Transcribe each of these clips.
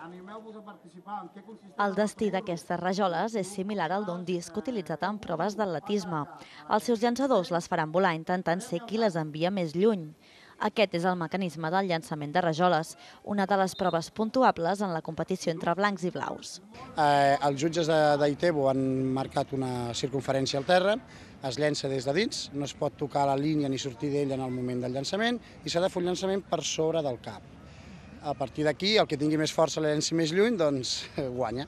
Animeu-vos a participar. En què consisteix? El destí d'aquestes rajoles és similar al d'un disc utilitzat en proves d'atletisme. Els seus llançadors les faran volar intentant ser qui les envia més lluny. Aquest és el mecanisme del llançament de rajoles, una de les proves puntuables en la competició entre blancs i blaus. Els jutges d'Aitebo han marcat una circunferència al terra, es llença des de dins, no es pot tocar la línia ni sortir d'ella en el moment del llançament i s'ha de fer un llançament per sobre del cap. A partir d'aquí, el que tingui més força la llenci més lluny, doncs guanya.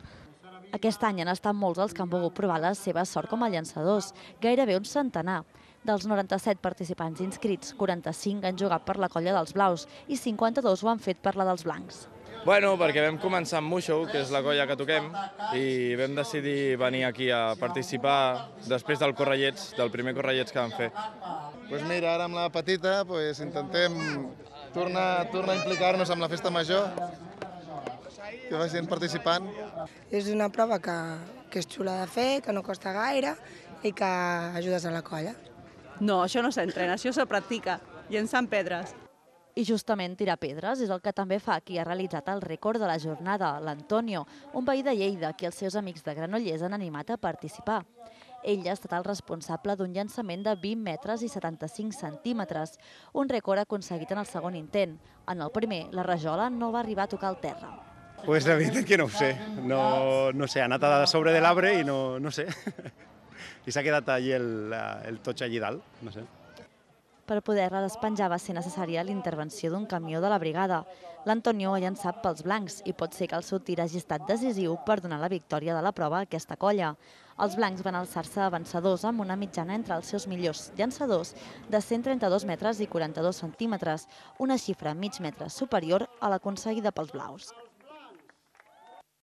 Aquest any han estat molts els que han volgut provar la seva sort com a llançadors, gairebé un centenar. Dels 97 participants inscrits, 45 han jugat per la colla dels blaus i 52 ho han fet per la dels blancs. Bueno, perquè vam començar amb Muixo, que és la colla que toquem, i vam decidir venir aquí a participar després del Correllets, del primer Correllets que vam fer. Doncs mira, ara amb la petita intentem tornar a implicar-nos amb la festa major, que vagin participant. És una prova que és xula de fer, que no costa gaire i que ajudes a la colla. No, això no s'entrena, això se practica, llençant pedres. I justament tirar pedres és el que també fa qui ha realitzat el rècord de la jornada, l'Antonio, un veí de Lleida, que els seus amics de Granollers han animat a participar. Ell ha estat el responsable d'un llançament de 20 metres i 75 centímetres, un rècord aconseguit en el segon intent. En el primer, la rajola no va arribar a tocar el terra. Pues la veritat que no ho sé, no sé, ha anat a sobre de l'arbre i no sé. I s'ha quedat allí el totx allí dalt, no sé. Per poder-la despenjar va ser necessària l'intervenció d'un camió de la brigada. L'Antonio ha llançat pels blancs i pot ser que el seu tir hagi estat decisiu per donar la victòria de la prova a aquesta colla. Els blancs van alçar-se avançadors amb una mitjana entre els seus millors llançadors de 132 metres i 42 centímetres, una xifra mig metre superior a l'aconseguida pels blaus.